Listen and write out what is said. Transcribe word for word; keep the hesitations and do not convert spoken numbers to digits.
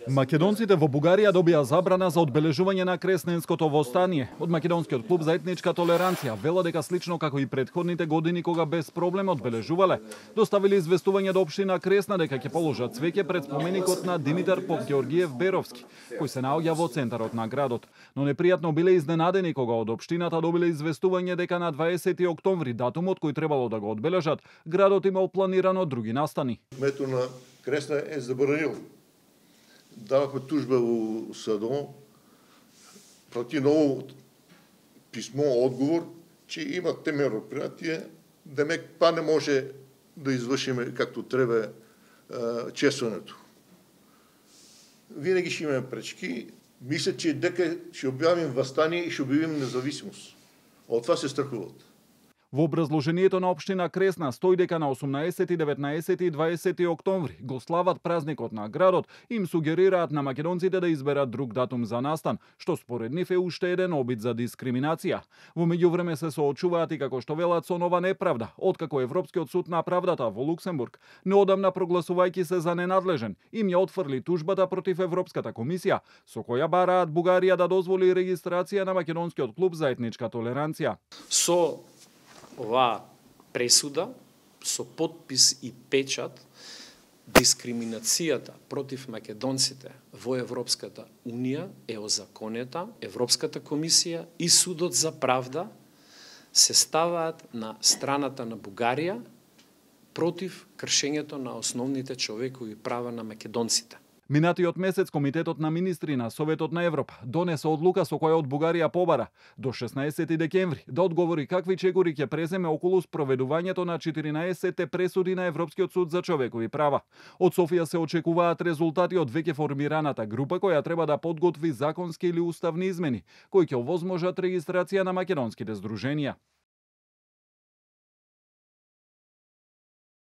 Македонците во Бугарија добија забрана за одбележување на Кресненското востание. Од македонскиот клуб за етничка толеранција вела дека слично како и претходните години кога без проблем одбележувале, доставиле известување до општина Кресна дека ќе положат цвеќе пред споменикот на Димитар Попгеоргиев Беровски, кој се наоѓа во центарот на градот. Но непријатно биле изненадени кога од општината добиле известување дека на дваесети октомври, датумот кој требало да го одбележат, градот имал планирано други настани. Кметот на Кресна е забранил. Давахме тужба у САДО, прати ново писмо, одговор, че има те меропријатија, демек па не може да извршиме както треба честването. Винаги ще имаме пречки. Мисля, че дека ще објавим вастание и ще објавим независимост. Од това се страхуват. Во образложението на општина Кресна стои дека на осумнаесети, деветнаесети и дваесети октомври го слават празникот на градот и им сугерираат на македонците да изберат друг датум за настан, што според нив е уште еден обид за дискриминација. Во меѓувреме се соочуваат и како што велат со нова неправда, откако Европскиот суд на правдата во Луксембург неодамна прогласувајќи се за ненадлежен, им ја отфрли тужбата против Европската комисија, со која бараат Бугарија да дозволи регистрација на македонскиот клуб за етничка толеранција. Со оваа пресуда, со подпис и печат, дискриминацијата против македонците во Европската Унија е озаконета, Европската комисија и Судот за правда се ставаат на страната на Бугарија против кршењето на основните човекови права на македонците. Минатиот месец Комитетот на министри на Советот на Европа донесе одлука со која од Бугарија побара до шеснаесети декември да одговори какви чекори ќе преземе околу спроведувањето на четиринаесетте пресуди на Европскиот суд за човекови права. Од Софија се очекуваат резултати од веќе формираната група која треба да подготви законски или уставни измени кои ќе овозможат регистрација на македонските здруженија.